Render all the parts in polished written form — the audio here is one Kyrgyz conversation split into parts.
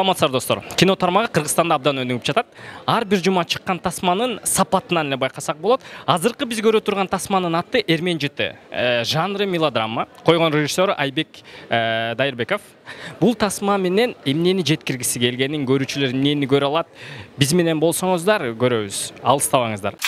Саламатсыздар достор. Кино тармагы Кыргызстанда абдан өнүгүп жатат. Ар бир жума чыккан тасманын сапатынан эле байкасак болот. Азыркы биз көрө турган тасманын аты Эрмен жыты. Жанры мелодрама. Койгон режиссер Айбек Дайырбеков. Бул тасма менен эмнени жеткиргиси келгенин, көрүүчүлөр эмнени көрө алат? Биз менен болсоңуздар көрөбүз. Алыстабаңыздар.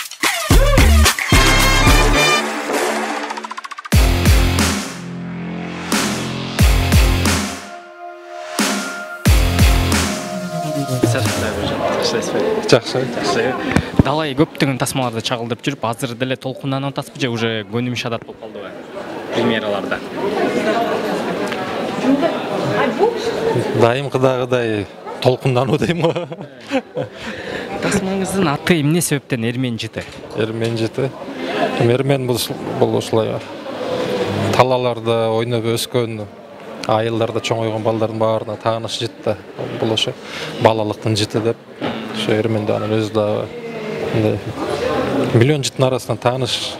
Жакшы. Далай көптөгөн тасмаларды чагылдырып жүрүп, азыр деле толкунданып атасызбы же уже көнүмүш адат болуп калдыбы? Премьераларда. Дайымкыдагыдай толкундануу дейм го. Тасмаңыздын аты эмне себептен Эрмен жыты? Эрмен жыты. Эрмен бул ушулай талаларда ойноп өскөн, айылдарда чоңойгон балдардын баарына тааныш жыт да. Бул ошо балалыктын жыты деп. Ошо Эрменде анын өзү да миллион жыттын арасынан тааныш.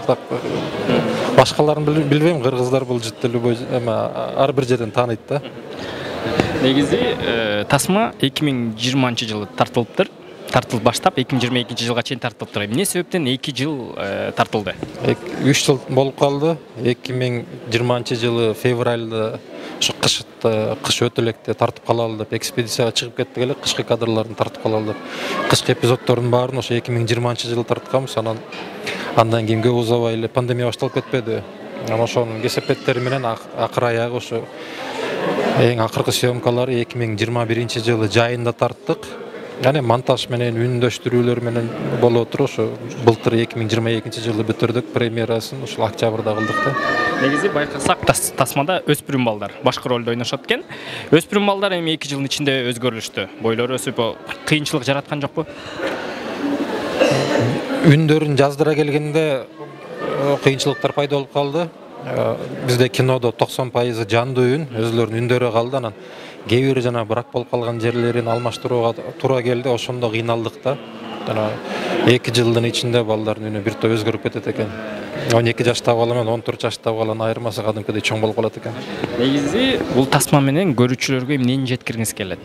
Башкаларын билбейм, кыргыздар бул жытты любой ар бир жерден тааныйт да. Негизи тасма 2020-жылы тартылыптыр. Тартылып баштап 2022-жылга чейин тартылыптыр. Эмне себептен 2 жыл тартылды? 3 жыл болуп калды. 2020-жылы февралда ошо кыш өтө электе тартып калалы деп экспедицияга чыгып кеттик эле, кышкы кадрларын тартып калалы деп. Кышкы эпизоддордун баарын ошо 2020-жылы тартканбыз. Андан кийин көп узабай эле пандемия башталып кетпеди. Ошонун кесепеттери менен акыр аягы ошо эң акыркы съемкалары 2021-жылы жайында тарттык. Yani montaj менен үндөштүрүүлөр менен болуп отур. Ошо былтыр 2022-жылы бүтүрдүк премьерасын, ушул октябрда кылдык да. Негизи байкасак тасмада өспүрүм балдар башкы ролдо ойношот экен. Өспүрүм балдар эми 2 жылдын ичинде өзгөрүлүштү. Бойлору өсүп, кыйынчылык жараткан жокпу? Үндөрүн жаздыра келгенде кыйынчылыктар пайда болуп калды. Бизде кинодо 90% жандуу үн, өзүлөрүнүн үндөрү калды. Анан кээ бир жана брак болуп калган жерлерин алмаштырууга туура келди. Ошондо кыйналдык да. 2 жылдын ичинде балдардын үнү бир топ өзгөрүп кетет экен. 12 жаштагы бала менен 14 жаштагы баланын айырмасы кадимкидей чоң болуп калат экен. Негизи бул тасма менен көрүүчүлөргө эмнени жеткиргиңиз келет?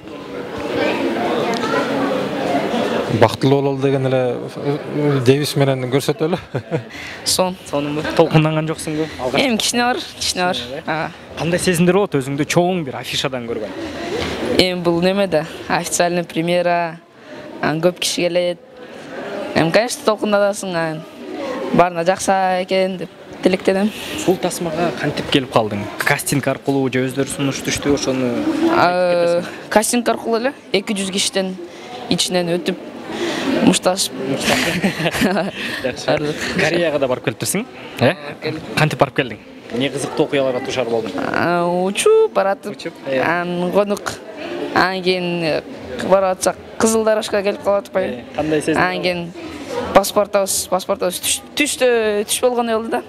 Бактылуу бололу деген эле девиз менен көрсөтөлү. Сонунбу? Толкунданган жоксуңбу? Эми кичине бар. Кандай сезимдер болот өзүңдү чоң бир афишадан көргөн? Эми бул немеде? Официальный премьера. Көп киши келет. Эми конечно толкундатасың. Баарына жакса экен деп тилектенем. Бул тасмага кантип келип калдың? Кастинг аркылуу же өздөрү сунуш түштү ошону? Кастинг аркылуу эле 200 кишиден ичинен өтүп мушташып. Кореяга да барып келиптирсиң? Кантип барып келдиң? Не кызыктуу окуяларга дуушар болдуң? Учуп баратып, конук. Анан кийин барып атсак Кызылдарашка келип калып атпайбы? Кандай сезим? Анан кийин паспортубуз түш болгондой болду да.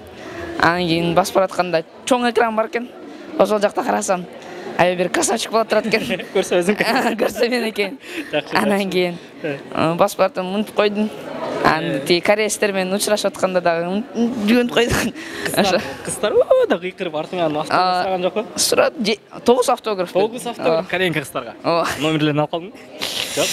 Анан кийин басып баратканда чоң экран бар экен. Ошол жакта карасам, аябай бир красавчик болуп турат экен. Көрсө өзүң. Көрсө мен экен. Анан кийин басып бардым, унутуп койдум. Анан тиги кореецтер менен учурашып атканда дагы жүгөнүп койдум. Кыздар да кыйкырып артыңан автограф сураган жокпу? Сурат 9 автограф. 9 автограф кореянка кыздарга. Номерлерин алып калдыңбы? Жок,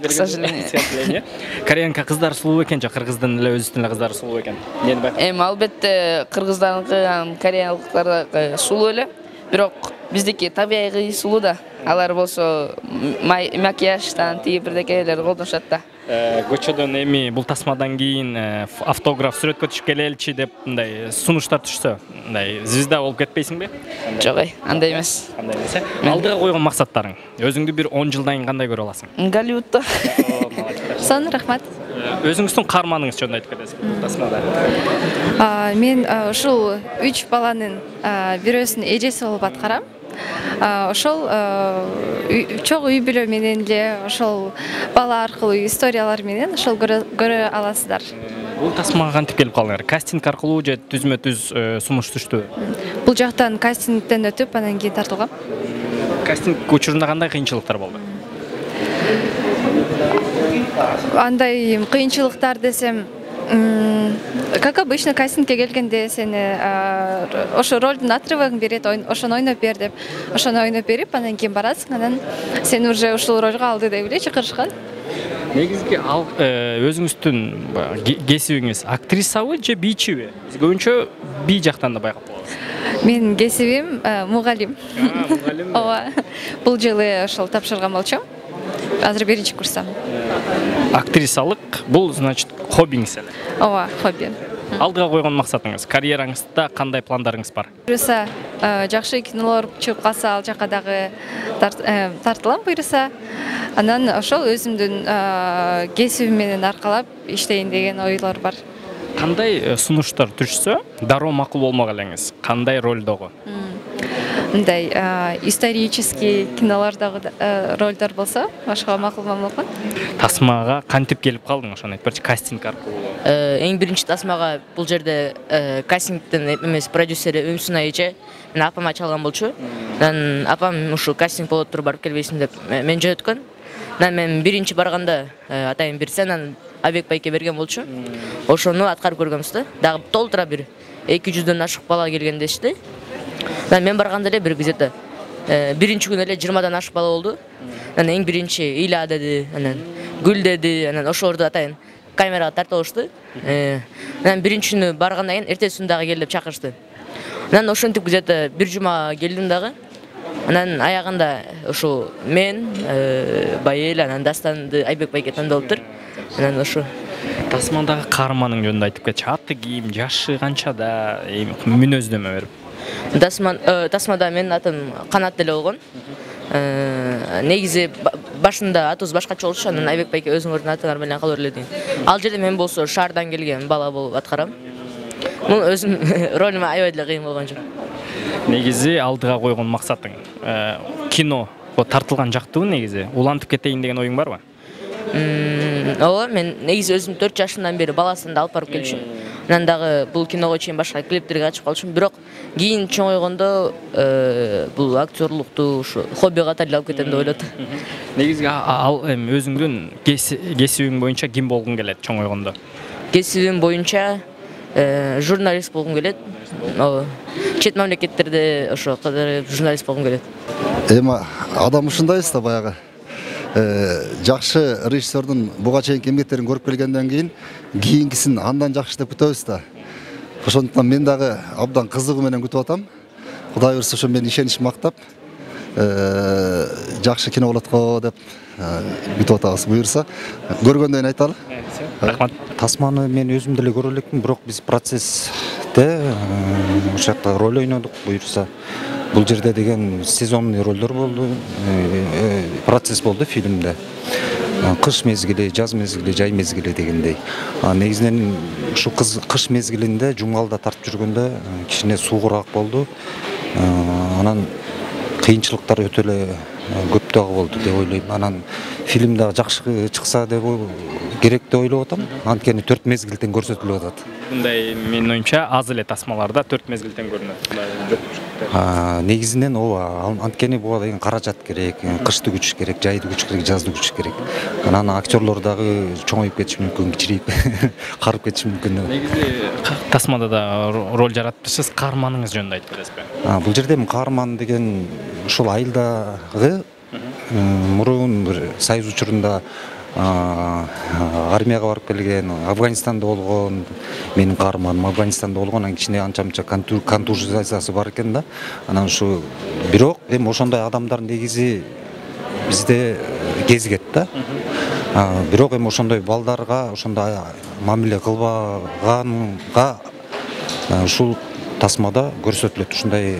к сожалению. Кореянка кыздар сулуу экен, же кыргыздын эле өзүнүн эле кыздары сулуу экен? Эми албетте кыргыздардыкы, кореялыктар сулуу эле, бирок биздики табигый сулуу да. Алар болсо макияждан тиги бирдекелер колдонушат да. Көчөдөн эми бул тасмадан кийин автограф сүрөткө түшүп келеличи деп мындай сунуштар түшсө, мындай звезда болуп кетпейсиңби? Жок, андай эмес. Андай эмес. Алдыга койгон максаттарың. Өзүңдү бир 10 жылдан кийин кандай көрө аласың? Голливудта. Сонун рахмат. Өзүңүздүн каарманыңыз жөнүндө айтып кетесиз бул тасмада. Мен ушул 3 баланын бирөөсүнүн эжеси болуп аткарам. Ошол чогуу үй бүлө менен эле ошол бала аркылуу историялар менен ошол көрө аласыздар. Бул тасмага кантип келип калдыңар? Кастинг аркылуу же түзмө-түз сунуш түштүбү? Бул жактан кастингден өтүп, анан кийин тартылгам. Кастинг учурунда кандай кыйынчылыктар болду? Андай кыйынчылыктар десем, Как обычно, кастингке келгенде сени ошо ролдун отрывогун берет, ошону ойноп бер деп, ошону ойноп берип, анан кийин барасың, анан сени уже ушул ролго алды деп эле чакырышкан. Негизги ал өзүңүздүн кесибиңиз актрисабы же бийчиби? Биз көбүнчө бий жактан да байкап калабыз. Менин кесибим мугалим. Мугалим. Ооба. Бул жылы ошол тапшырган болчумун. Азыр 1-курстамын. Актрисалык бул значит хоббиңиз эле. Ооба, хобби. Алдыга койгон максатыңыз, карьераңызда кандай пландарыңыз бар? Буюрса, жакшы кинолор чыгып калса, ал жака дагы тартылам буюрса. Анан ошол өзүмдүн кесибим менен аркалап иштейин деген ойлор бар. Кандай сунуштар түшсө, дароо макул болмок элеңиз? Кандай ролдогу? Мындай исторический кинолордогу ролдор болсо, ошого макул болмокмун. Тасмага кантип келип калдың, ошону айтып берчи, кастинг аркылуу? Эң биринчи тасмага бул жерде кастингдин эмес продюсери Өмсүн айче мени апама чалган болчу. Анан апам ушу кастинг болот туруп барып келбейсиң деп мени жөнөткөн. Анан мен биринчи барганда атайын бир сценаны Абек байке берген болчу. Ошону аткарып көргөнбүз да. Дагы толтура бир 200дөн ашык бала келген дешти. Анан мен барганда эле бир где-то биринчи күнү эле 20дан ашык бала болду. Анан эң биринчи Иля деди, анан Гүл деди, анан ошолорду атайын камерага тартып алышты. Анан биринчи күнү баргандан кийин эртеси күнү дагы кел деп чакырышты. Анан ошентип где-то бир жума келдим дагы. Анан аягында ошо мен, Байел, анан Дастанды Айбек байке тандалыптыр. Анан ошо Тасмандагы каарманың жөнүндө айтып кетчи. Аты ким, жашы канчада, мүнөздөмө берип. Тасмада менин атым Канат деле болгон. Негизи башында атыбыз башкача болчу, анан Айбек байке өзүңөрдүн атыңар менен кала берле дейм. Ал жерде мен болсо шаардан келген бала болуп аткарам. Бул өзүм ролума аябай деле кыйын болгон жок. Негизи алдыга койгон максатың кино тартылган жактыбы негизи? Улантып кетейин деген оюң барбы? Ооба, мен негизи өзүм 4 жашымдан бери баласымды алып барып келчүмүн. Анан дагы бул киного чейин башка клиптерге катышып калчумун, бирок кийин чоңойгондо бул актерлукту ушу хобби катары алып кетем деп ойлоп атам. Негизи ал өзүңдүн кесибиң боюнча ким болгуң келет чоңойгондо? Кесибим боюнча журналист болгум келет. Чет мамлекеттерде ошо кадыр журналист болгум келет. Эми адам ушундайбыз да баягы. Жакшы режиссердун буга чейинки эмгектерин көрүп келгенден кийинкисин андан жакшы деп күтөбүз да. Ошондуктан мен дагы абдан кызыгуу менен күтүп атам. Кудай буйрса ошо менин ишеничим мактап жакшы кино болот го деп күтүп атабыз. Буйрса көргөндөн кийин айталы. Рахмат. Тасманы мен өзүм деле көрө элекмин, бирок биз процессте ошол жакта роль ойнодук. Буйрса бул жерде деген сезонный ролдор болду, процесс болду фильмде. Кыш мезгили, жаз мезгили, жай мезгили дегендей. Негизинен ушу кыш мезгилинде жумгалда тартып жүргөндө кичине суугураак болду. Анан кыйынчылыктар өтө эле көп дагы болду деп ойлойм. Анан фильм дагы жакшы чыкса деп керек деп ойлоп атам. Анткени 4 мезгилден көрсөтүлүп атат. Мындай менин оюмча аз эле тасмаларда 4 мезгилден көрүнөт. Негизинен ооба, анткени буга деген каражат керек, кышты күчүш керек, жайды күчүш керек, жазды күчүш керек. Анан актерлор дагы чоңоюп кетиши мүмкүн, кичирейип карып кетиши мүмкүн. Негизи тасмада да роль жараттыңыз, каарманыңыз жөнүндө айтып бересизби? Бул жерде каарман деген ушул айылдагы мурун бир союз учурунда армияга барып келген, Афганистанда болгон менин каарманым, Афганистанда болгон, анан кичине анча-мынча контузиясы бар экен да. Анан ушу бирок эми ошондой адамдар негизи бизде кезигет да. Бирок эми ошондой балдарга ошондой мамиле кылбаганга ушул тасмада көрсөтүлөт. Ушундай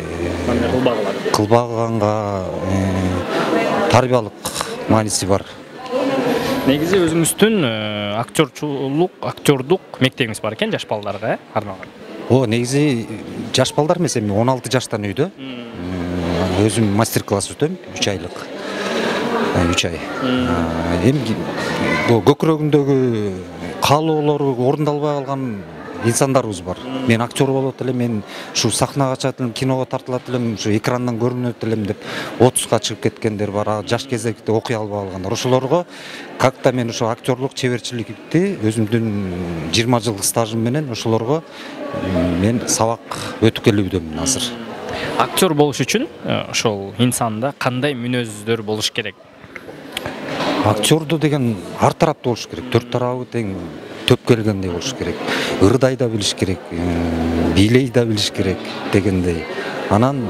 кылбаганга тарбиялык мааниси бар. Негизи өзүңүздүн актёрдук мектебиңиз бар экен жаш балдарга, арналган. Негизи жаш балдар эмес, эми 16 жаштан үйдө. Өзүм мастер-класс өтөм, 3 айлык. 3 ай. Эми бул көкүрөгүндөгү каалоолору орундалбай калган инсандарыбыз бар. Мен актер болот элем, мен ушу сахнага чыгат элем, киного тартылат элем, ушу экрандан көрүнөт элем деп 30га чыгып кеткендер бар, жаш кезекте окуй албай калгандар. Ошолорго как-то мен ошо актерлук чеберчиликти өзүмдүн 20 жылдык стажым менен ошолорго мен сабак өтүп келүүдөмүн азыр. Актер болуш үчүн ошол инсанда кандай мүнөздөр болуш керек? Актерду деген ар тараптуу болуш керек, төрт тарабы тең төп келгендей болуш керек. Ырдай да билиш керек, бийлей да билиш керек дегендей. Анан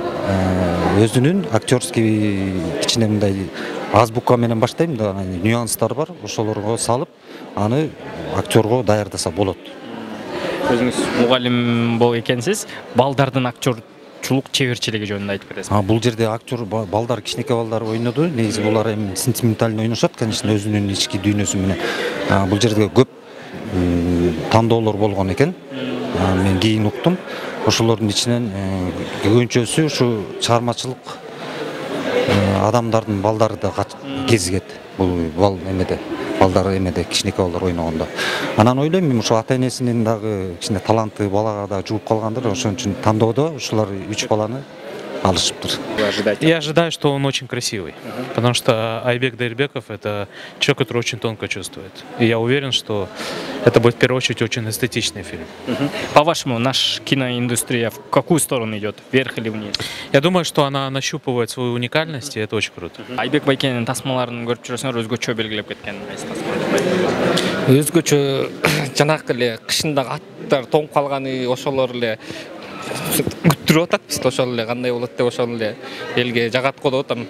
өзүнүн актерский кичине мындай азбука менен баштайм да, нюанстар бар, ошолорго салып, аны актерго даярдаса болот. Өзүңүз мугалим болуп экенсиз, балдардын актерчулук чеберчилиги жөнүндө айтып бересиз. Бул жерде актер балдар, кичинекей балдар ойноду. Негизи булар эми сентиментально ойношот, конечно, өзүнүн ички дүйнөсү менен. Бул жерде көп тандоолор болгон экен. Мен кийин уктум. Ошолордун ичинен көбүнчөсү ушу чыгармачылык адамдардын балдары да кезигет. Бул эмеде, балдар эмеде, кичинекей балдар ойногондо. Анан ойлойм, мен ушу ата-энесинин дагы кичине таланты балага да жугуп калгандыр. Ошон үчүн тандоодо ушулар 3 баланы алышыптыр. Я ожидаю, что он очень красивый, потому что Айбек Дайырбеков — это человек, который очень тонко чувствует. И я уверен, что это будет в первую очередь очень эстетичный фильм. По-вашему, наша киноиндустрия в какую сторону идет, вверх или вниз? Я думаю, что она нащупывает свою уникальность, и это очень круто. Айбек Байкенин тасмаларын көрүп жүрөсүңөр, өзгөчө белгилеп кеткен Өзгөчө жанакы эле кышындагы аттар тоңуп калганы, ошолор эле күттүрүп атат биз, ошол эле кандай болот деп ошол эле элге жагат го деп атам.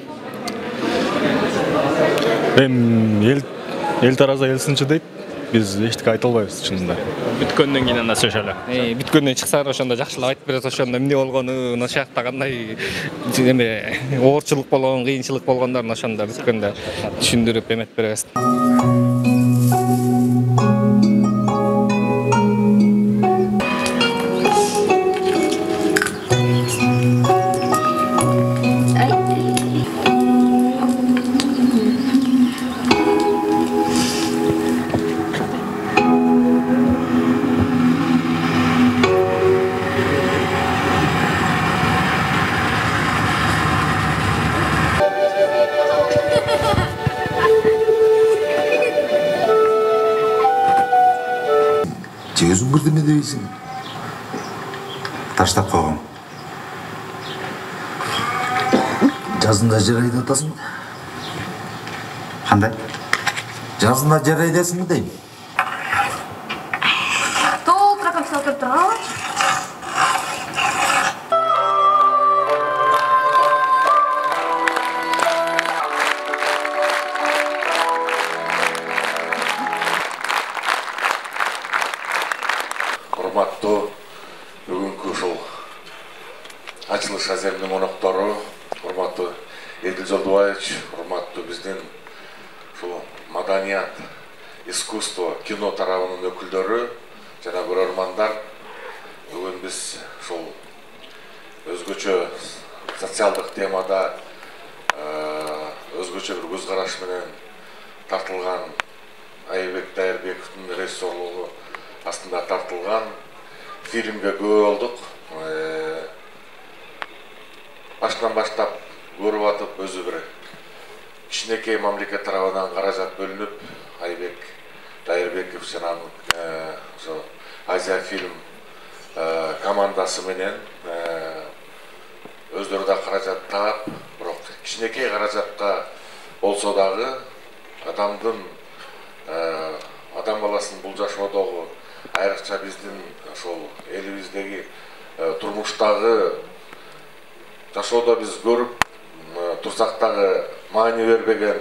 Эл тараза эл сынчы дейт. Биз эчтеке айта албайбыз чынында. Бүткөндөн кийин анда сөйлөлө. Бүткөндөн чыксаңар ошондо жакшылап айтып берет, ошондо эмне болгону, ошол жакта кандай эме оорчулук болгон, кыйынчылык болгондорун ошондо бүткөндө түшүндүрүп эметип беребиз. Өзүң бирдеме дейсиң. Таштап койгом. Жазында жер айдатасың. Кандай? Жазында жер айдасың дейм. Толтура капсал кирип турган. Урматтуу бүгүнкү ушул ачылыш аземдин коноктору, урматтуу Эдил Жолдубаевич, урматтуу биздин ушул маданият, искусство, кино тарабынын өкүлдөрү жана көрөрмандар, бүгүн биз ушул өзгөчө социалдык темада өзгөчө бир көз караш менен тартылган Айбек Дайырбековдун режиссерлугу астында тартылган фильмге күбө болдук. Баштан баштап көрүп атып, өзү бир кичинекей мамлекет тарабынан каражат бөлүнүп, Айбек Дайырбеков жана ошо Азия фильм командасы менен өздөрү да каражат таап, бирок кичинекей каражатка болсо дагы адам баласынын бул жашоодогу, айрыкча биздин ошол элибиздеги турмуштагы жашоодо биз көрүп турсак дагы маани бербеген,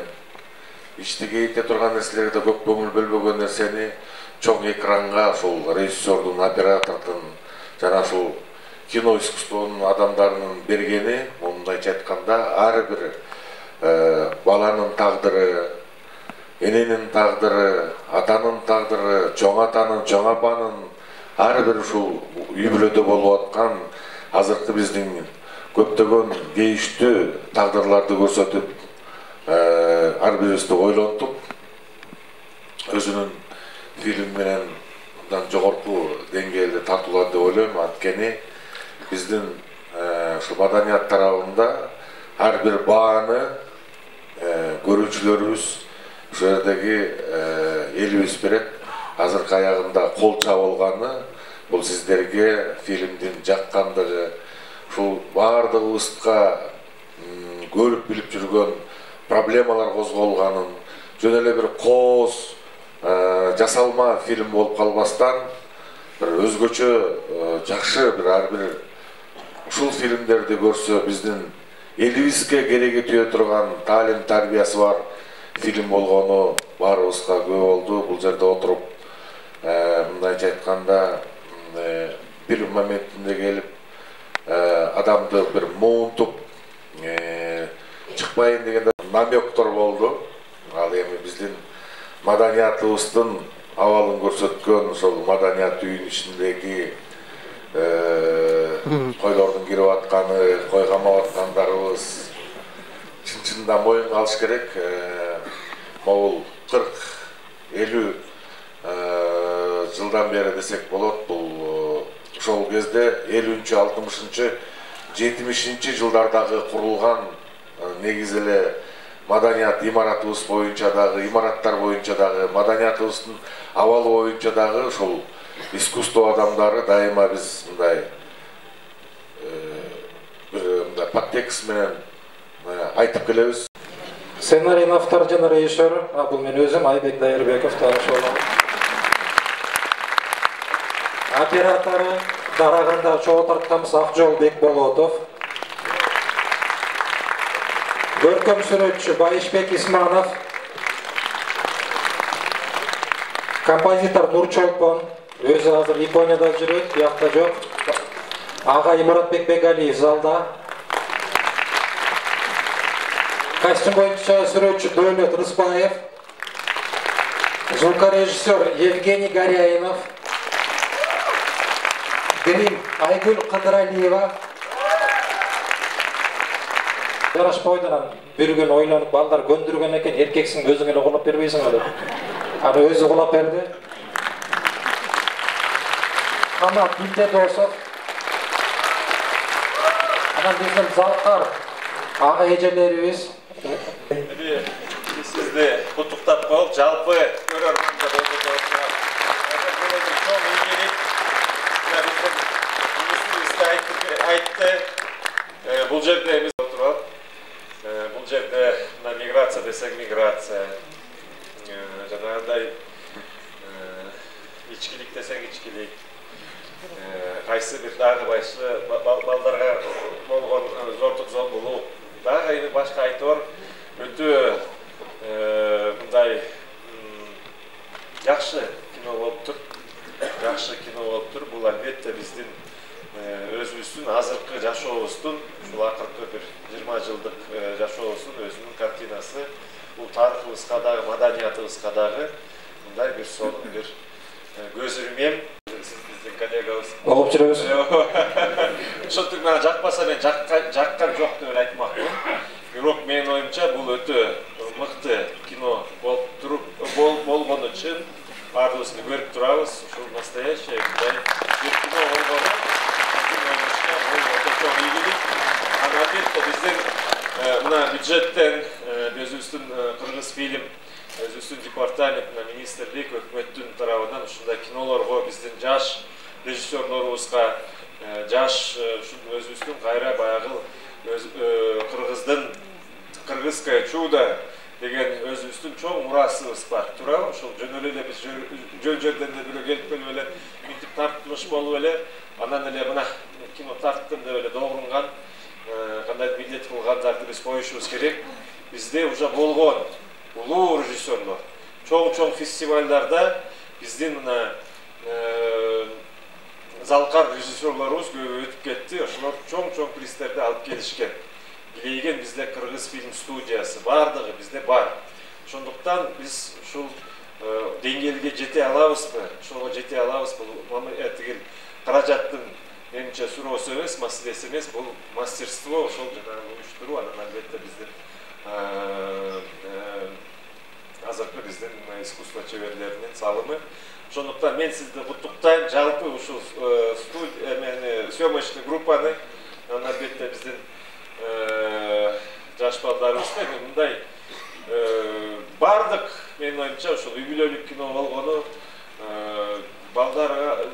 ичти кейите турган нерселерге көп көңүл бөлбөгөн нерсени чоң экранга ошол режиссердун, оператордун жана ошол кино искусствонун адамдарынын бергени, мындайча айтканда, ар бир баланын тагдыры, эненин тагдыры, атанын тагдыры, чоң атанын, чоң апанын ар бир ушул үй бүлөдө болуп аткан азыркы биздин көптөгөн кейиштүү тагдырларды көрсөтүп, ар бирибизди ойлонтуп, өзүнүн фильм менен мындан жогорку деңгээлде тартуулат деп ойлойм. Анткени биздин ушу маданият тарабында ар бир бааны көрүүчүлөрүбүз ошол жердеги элибиз берет. Азыркы аягында кол чабылганы бул сиздерге фильмдин жаккандыгы, ушул баардыгыбызга көрүп билип жүргөн проблемалар козголганын, жөн эле бир кооз жасалма фильм болуп калбастан бир өзгөчө жакшы бир ар бир ушул фильмдерди көрсө биздин элибизге кереги тие турган таалим тарбиясы бар фильм болгону баарыбызга күбө болду. Бул жерде отуруп мындайча айтканда бир моментинде келип адамды бир муунтуп чыкпайын дегенде намектор болду. Ал эми биздин маданиятыбыздын абалын көрсөткөн ошол маданият үйүнүн ичиндеги койлордун кирип атканы, кой камап аткандарыбыз чын-чынында моюнга алыш керек. Могул 40-50 жылдан бери десек болот. Бул ошол кезде 50-60 70 жылдардагы курулган негизи эле маданият имаратыбыз боюнча дагы, имараттар боюнча дагы, маданиятыбыздын абалы боюнча дагы ошол искусство адамдары дайыма биз мындай бир подтекст менен айтып келебиз. Сценарийдин автору жана режиссеру бул мен өзүм Айбек Дайырбеков тааныш болом. Оператору дарагында чогуу тартканыбыз Акжол Бекболотов. Көркөм сүрөтчү Байышбек Исманов. Композитор Нурчолпон, өзү азыр Японияда жүрөт, биякта жок. Ага Имаратбек Бегалиев залда. Костюм боюнча сүрөтчү Дөөлөт Рыспаев. Звукорежиссер Евгений Горяинов. Грим Айгүл Кыдыралиева. Жарашпойдан бир күн ойлонуп балдар көндүргөн экен, эркексиң өзүң эле кулап бербейсиң деп. Аны өзү кулап берди. Канат Билдедосов. Анан биздин залкар ага эжелерибиз. Сизди куттуктап коюп, жалпы көрөрмөндөр айтты. Бул жерде эмес отурат. Бул жерде миграция десек миграция. Жанагындай ичкилик десек ичкилик. Кайсы бир дагы башы балдарга болгон зордук зомбулук. Дагы эми башка айтор өтө мындай жакшы кино болуптур. Жакшы кино болуптур. Бул албетте биздин өзүбүздүн азыркы жашообуздун, ушул акыркы бир 20 жылдык жашообуздун өзүнүн картинасы. Бул тарыхыбызга дагы, маданиятыбызга дагы мындай бир сонун бир көз ирмем. Биздин коллегабыз болуп жүрөбүз. Ошондук мага жакпаса мен жаккан жок деп айтмакмын. Бирок менин оюмча бул өтө мыкты кино болгону үчүн баардыгыбыз көрүп турабыз. Ушул настоящий бир кино болгону албетте биздин мына бюджеттен өзүбүздүн кыргыз фильм, өзүбүздүн департаментинен, министрлик, өкмөттүн тарабынан ушундай кинолорго биздин жаш режиссерлорубузга, жаш өзүбүздүн кайра баягы кыргыздын кыргызское чудо деген өзүбүздүн чоң мурасыбыз бар. Туурабы? Ошол жөн эле биз жөн жерден эле келип келип эле мынтип тартылыш болуп эле анан эле мына кино тарттым деп эле догрунган кандай милдет кылгандарды биз коюшубуз керек. Бизде уже болгон улуу режиссерлор чоң фестивалдарда биздин мына залкар режиссерлорубуз көп өтүп кетти. Ошолор чоң приздерди алып келишкен. Билейген бизде кыргыз фильм студиясы бардыгы бизде бар. Ошондуктан биз ушул деңгээлге жете алабызбы? Ошого жете алабызбы? Тигил каражаттын менимче суроосу эмес, маселеси эмес, бул мастерство ошол жанагы уюштуруу, анан албетте биздин азыркы биздин искусство чеберлеринин салымы. Ошондуктан мен сизди куттуктайм. Жалпы ушул съемочный группаны албетте биздин жаш балдарыбызды мындай бардык менин оюмча ушул үй бүлөлүк кино болгону балдар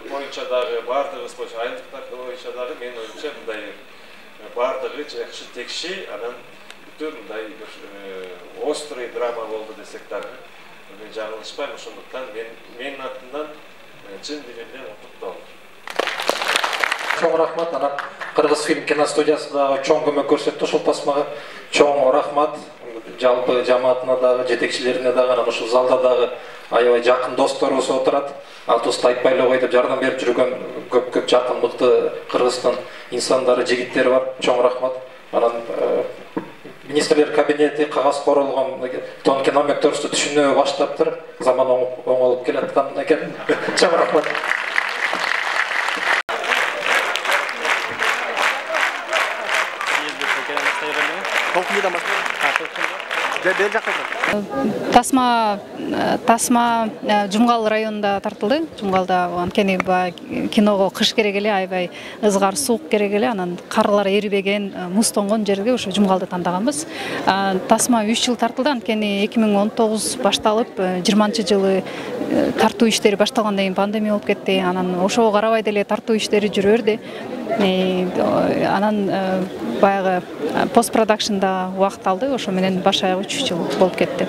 боюнча дагы бардыгыбыз боюнча айымдыктар боюнча дагы менин оюмча мындай бардыгы жакшы текши, анан бүтүн мындай острый драма болду десек дагы мен жаңылышпайм. Ошондуктан менин атымдан чын дилимден куттуктоо. Чоң рахмат. Анан Кыргыз фильм киностудиясы дагы чоң көмөк көрсөттү ушул тасмага. Чоң рахмат. Жалпы жамаатына дагы, жетекчилерине дагы, анан ушул залда дагы аябай жакын досторубуз отурат. Алтыбызды айтпай эле коюп жардам берип жүргөн көп жакын мыкты Кыргызстан инсандары, жигиттери бар. Чоң рахмат. Анан министрлер кабинети кагаз королгон тон кино мектебизди түшүнө баштаптыр. Заман оңолуп келаткан экен. Чоң рахмат. Тасма Жумгал районунда тартылды. Жумгалда анткени киного кыш керек эле, аябай ызгар суук керек эле, анан карлар эрибеген, муз тонгон жерге ошо Жумгалды тандаганбыз. Тасма 3 жыл тартылды, анткени 2019 башталып, 20-жылы тартуу иштери башталгандан кийин пандемия болуп кетти. Анан ошого карабай деле тартуу иштери жүрө берди. Анан баягы постпродакшнда убакыт алды, ошо менен баш аягы 3 жыл болуп кетти.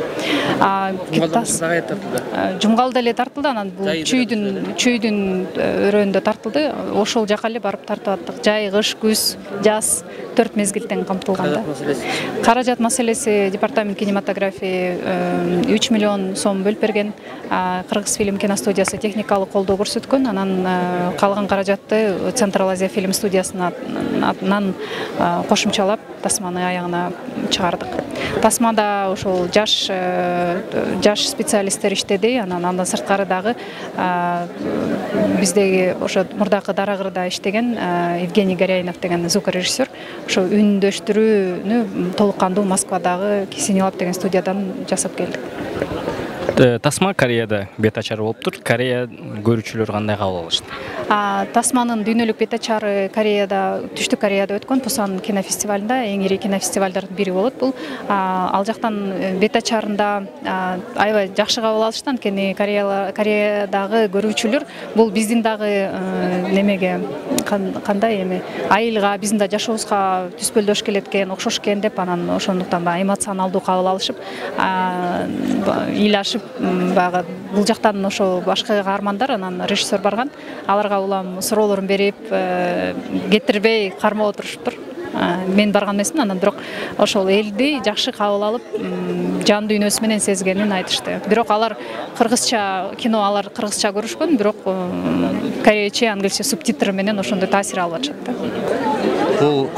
Жумгалда эле тартылды, анан бул чүйдүн өрөөндө тартылды. Ошол жака эле барып тартып аттык. Жай, кыш, күз, жаз 4 мезгилден камтылганда. Каражат маселеси департамент кинематографии 3 миллион сом бөлүп берген. Кыргыз фильм киностудиясы техникалык колдоо көрсөткөн. Анан калган каражатты Централ Азия фильм студиясынан кошумчалап тасманы аягына чыгардык. Тасмада ошол жаш специалисттер иштеди. Андан сырткары дагы биздеги ошо мурдакы Дарагырда иштеген Евгений Горяинов деген звукорежиссер ошо үндөштүрүүнү толук кандуу Москвадагы Кисенилаб деген студиядан жасап келдик. Тасма Кореяда бет ачары болуптур. Корея көрүүчүлөр кандай кабыл алышты? Тасманын дүйнөлүк бет ачары Кореяда, Түштүк Кореяда өткөн Пусан кинофестивалында, эң ири кинофестивалдардын бири болот бул. Ал жактан бет ачарында аябай жакшы кабыл алышты, анткени Кореядагы көрүүчүлөр бул биздин дагы немеге кандай эми айылга, биздин да жашообузга түспөлдөш келет экен, окшош экен деп, анан ошондуктан да эмоционалдуу кабыл алышып, ыйлашып, баягы бул жактан ошо башка каармандар, анан режиссер барган, аларга улам суроолорун берип, кетирбей кармап отурушуптур. Мен барган эмесмин, анан бирок ошол элди жакшы кабыл алып, жан дүйнөсү менен сезгенин айтышты. Бирок алар кыргызча көрүшкөн, бирок корейче, англисче субтитр менен ошондой таасир алып атышат. Бул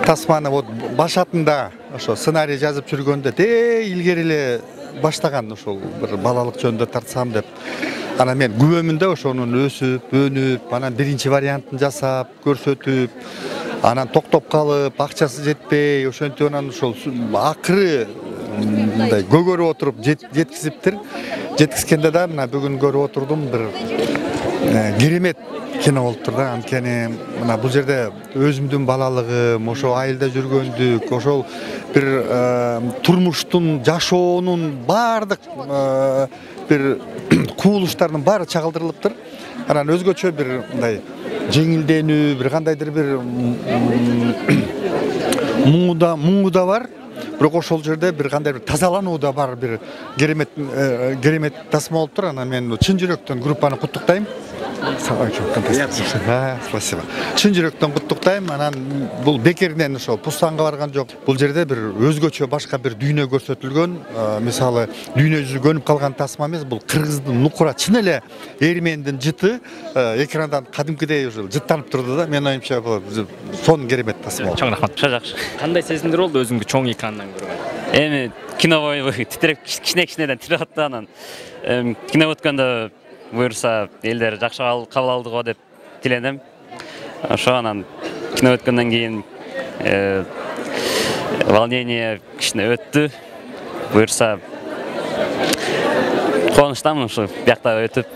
Тасманы вот башатында ошо сценарий жазып жүргөндө илгери эле баштаган, ошол бир балалык жөнүндө тартсам деп. Анан мен күбөмүн да ошонун өсүп, өнүп, анан биринчи вариантын жасап, көрсөтүп, анан токтоп калып, акчасы жетпей, ошентип анан ошол акыры мындай көгөрүп отуруп жеткизиптир. Жеткизгенде да мына бүгүн көрүп отурдум, бир керемет кино болуптур да. Анткени мына бул жерде өзүмдүн балалыгым, ошо айылда жүргөндүк, ошол бир турмуштун, жашоонун баардык бир куулуштардын баары чагылдырылыптыр. Анан өзгөчө бир мындай жеңилденүү, бир кандайдыр бир муңу да бар. Бирок ошол жерде бир кандай бир тазалануу да бар, бир керемет тасма болуптур. Анан мен чын жүрөктөн группаны куттуктайм. Спасибо. Чын жүрөктөн куттуктайм. Анан бул бекеринен ошо Пустанга барган жок. Бул жерде бир өзгөчө башка бир дүйнө көрсөтүлгөн. Мисалы, дүйнө жүзү көнүп калган тасма эмес, бул Кыргыздын нукура чын эле Эрмендин жыты экрандан кадимкидей уже жыттанып турду да. Мен оюмча бул сонун керемет тасма. Чоң рахмат. Жакшы. Кандай сезимдер болду өзүңдү чоң экрандан көргөн? Эми кино боюнча титиреп кичинекичинеден тирип атты, анан кино өткөндө буюрса элдер жакшы кабыл алды го деп тилендим. Ошо анан кино өткөндөн кийин волнение кичине өттү. Буюрса Кубанычтамын ушу биякта өтүп.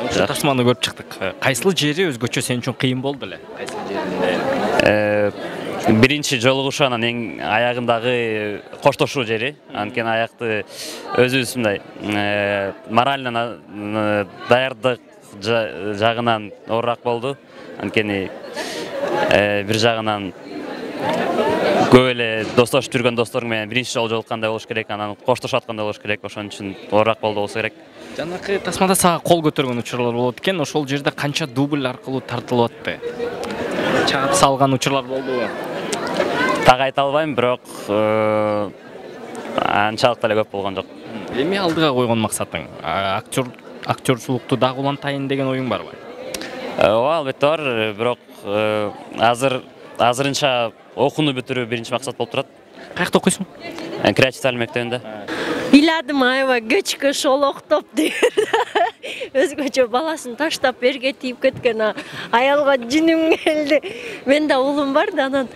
Ошо тасманы көрүп чыктык. Кайсыл жери өзгөчө сен үчүн кыйын болду эле? Кайсыл жеринде? Биринчи жолугушу анан эң аягындагы коштошуу жери. Анткени аякты өзүбүз мындай морально даярдык жагынан оорураак болду. Анткени бир жагынан көп эле достошуп жүргөн досторуң менен биринчи жолу жолуккандай болуш керек, анан коштошуп аткандай болуш керек. Ошон үчүн оорураак болду болсо керек. Жанакы тасмада сага кол көтөргөн учурлар болот экен. Ошол жерде канча дубль аркылуу тартылып атты? Чаап салган учурлар болдубу? Так айта албайм, бирок анчалык деле көп болгон жок. Эми алдыга койгон максатың? Актёрчулукту дагы улантайын деген оюң барбы? Ооба, албетте бар, бирок азырынча окууну бүтүрүү биринчи максат болуп турат. Каякта окуйсуң? Креатив талим мектебинде. Ыйладым аябай кечке шолоктоп деп өзгөчө баласын таштап берге тийип кеткен аялга жиним келди. Менде уулум бар да, анан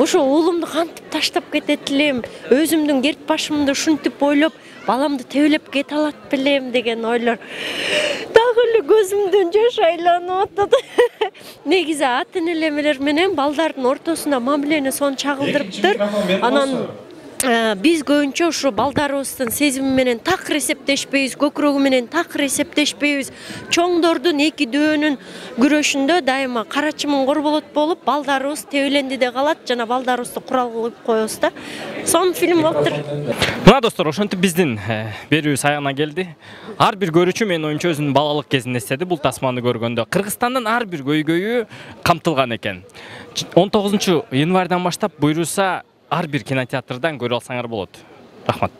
ошо уулумду кантип таштап кетет элем, өзүмдүн керт башымды ушинтип ойлоп, баламды тебелеп кете алат белем деген ойлор дагы эле көзүмдөн жаш айланып атат. Негизи ата энелер менен балдардын ортосунда мамилени сонун чагылдырыптыр. Анан биз көбүнчө ушу балдарыбыздын сезими менен такыр эсептешпейбиз, көкүрөгү менен такыр эсептешпейбиз. Чоңдордун эки дөөнүн күрөшүндө дайыма кара чымын корболот болуп, балдарыбыз тебеленди де калат, жана балдарыбызды курал кылып коебуз да. Сонун фильм болуптур. Мына достор, ошентип биздин берүүбүз аягына келди. Ар бир көрүүчү менин оюмча өзүнүн балалык кезин эстеди бул тасманы көргөндө. Кыргызстандын ар бир көйгөйү камтылган экен. 19 январдан баштап буйруса ар бир кинотеатрдан көрө алсаңар болот. Рахмат.